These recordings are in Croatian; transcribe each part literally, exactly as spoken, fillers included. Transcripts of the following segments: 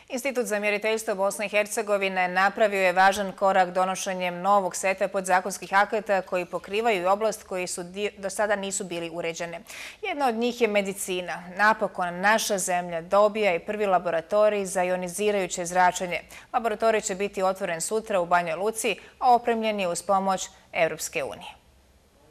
Institut za mjeriteljstvo Bosne i Hercegovine napravio je važan korak donošenjem novog seta podzakonskih akata koji pokrivaju i oblast koji su do sada nisu bili uređene. Jedna od njih je medicina. Napokon naša zemlja dobija i prvi laboratorij za ionizirajuće zračenje. Laboratorij će biti otvoren sutra u Banjoj Luci, a opremljen je uz pomoć Europske unije.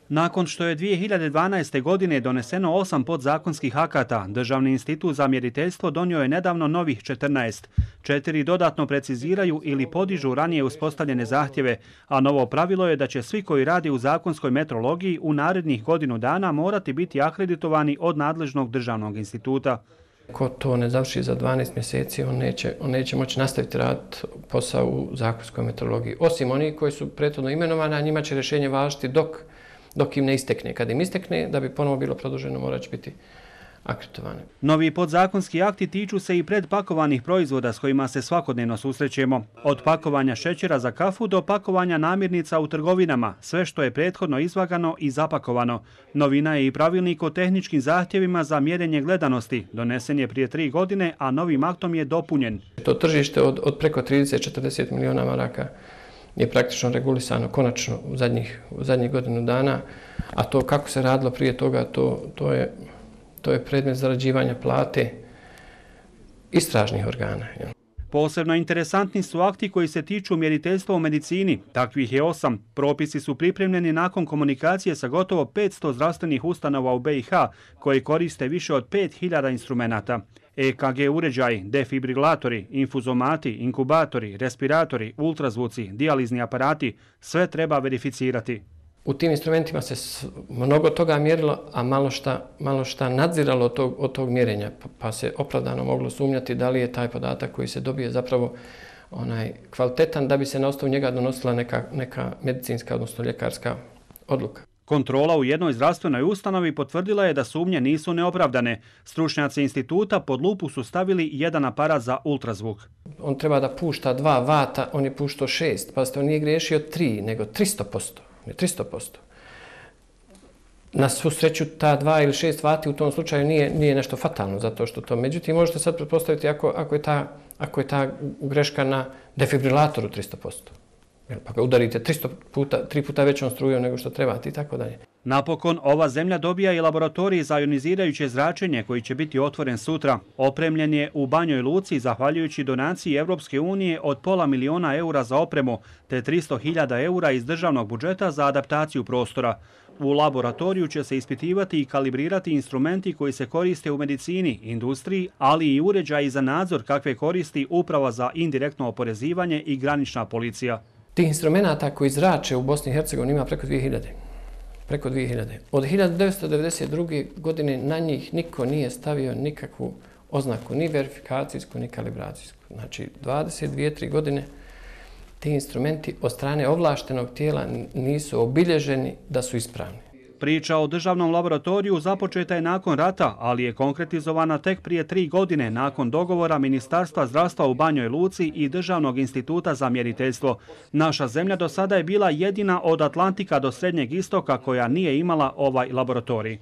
Nakon što je dvije hiljade dvanaeste. godine doneseno osam podzakonskih akata, Državni institut za mjeriteljstvo donio je nedavno novih četrnaest. Četiri dodatno preciziraju ili podižu ranije uspostavljene zahtjeve, a novo pravilo je da će svi koji radi u zakonskoj metrologiji u narednih godinu dana morati biti akreditovani od nadležnog državnog instituta. Ko to ne završi za dvanaest mjeseci, on neće, on neće moći nastaviti raditi posao u zakonskoj metrologiji. Osim oni koji su prethodno imenovani, a njima će rješenje važiti dok dok im ne istekne. Kad im istekne, da bi ponovo bilo produženo, morat će biti akreditovane. Novi podzakonski akti tiču se i predpakovanih proizvoda s kojima se svakodnevno susrećemo. Od pakovanja šećera za kafu do pakovanja namirnica u trgovinama, sve što je prethodno izvagano i zapakovano. Novina je i pravilnik o tehničkim zahtjevima za mjerenje gledanosti. Donesen je prije tri godine, a novim aktom je dopunjen. To tržište od, od preko trideset do četrdeset miliona maraka je praktično regulisano konačno u zadnjih, u zadnjih godinu dana, a to kako se radilo prije toga, to, to, je, to je predmet zarađivanja plate istražnih organa. Posebno interesantni su akti koji se tiču mjeriteljstva u medicini. Takvih je osam. Propisi su pripremljeni nakon komunikacije sa gotovo petsto zdravstvenih ustanova u be i ha koji koriste više od pet hiljada instrumenata. e ka ge uređaji, defibrilatori, infuzomati, inkubatori, respiratori, ultrazvuci, dijalizni aparati, sve treba verificirati. U tim instrumentima se mnogo toga mjerilo, a malo šta, malo šta nadziralo od tog, od tog mjerenja, pa se opravdano moglo sumnjati da li je taj podatak koji se dobije zapravo onaj kvalitetan da bi se na osnovu njega donosila neka, neka medicinska, odnosno ljekarska odluka. Kontrola u jednoj zdravstvenoj ustanovi potvrdila je da sumnje nisu neopravdane. Stručnjaci instituta pod lupu su stavili jedan aparat za ultrazvuk. On treba da pušta dva vata, on je puštao šest, pa ste on nije griješio tri, nego tristo posto. tristo posto. Na svu sreću ta dva ili šest vati u tom slučaju nije, nije nešto fatalno, zato što to. Međutim, možete sad pretpostaviti ako, ako, je ta, ako je ta greška na defibrilatoru tristo posto. Pa ga udarite tristo puta, tri puta većom strujom nego što trebate i tako dalje. Napokon, ova zemlja dobija i laboratorij za ionizirajuće zračenje koji će biti otvoren sutra. Opremljen je u Banjoj Luci zahvaljujući donaciji Europske unije od pola miliona eura za opremu te tristo hiljada eura iz državnog budžeta za adaptaciju prostora. U laboratoriju će se ispitivati i kalibrirati instrumenti koji se koriste u medicini, industriji, ali i uređaji za nadzor kakve koristi Uprava za indirektno oporezivanje i granična policija. Tih instrumenta koji zrače u Bosni i Hercegovini ima preko dvije hiljade. Preko dvije hiljade. Od hiljadu devetsto devedeset druge. godine na njih niko nije stavio nikakvu oznaku, ni verifikacijsku, ni kalibracijsku. Znači, dvadeset dvije do tri godine ti instrumenti od strane ovlaštenog tijela nisu obilježeni da su ispravni. Priča o državnom laboratoriju započeta je nakon rata, ali je konkretizovana tek prije tri godine nakon dogovora Ministarstva zdravstva u Banjoj Luci i Državnog instituta za mjeriteljstvo. Naša zemlja do sada je bila jedina od Atlantika do Srednjeg istoka koja nije imala ovaj laboratorij.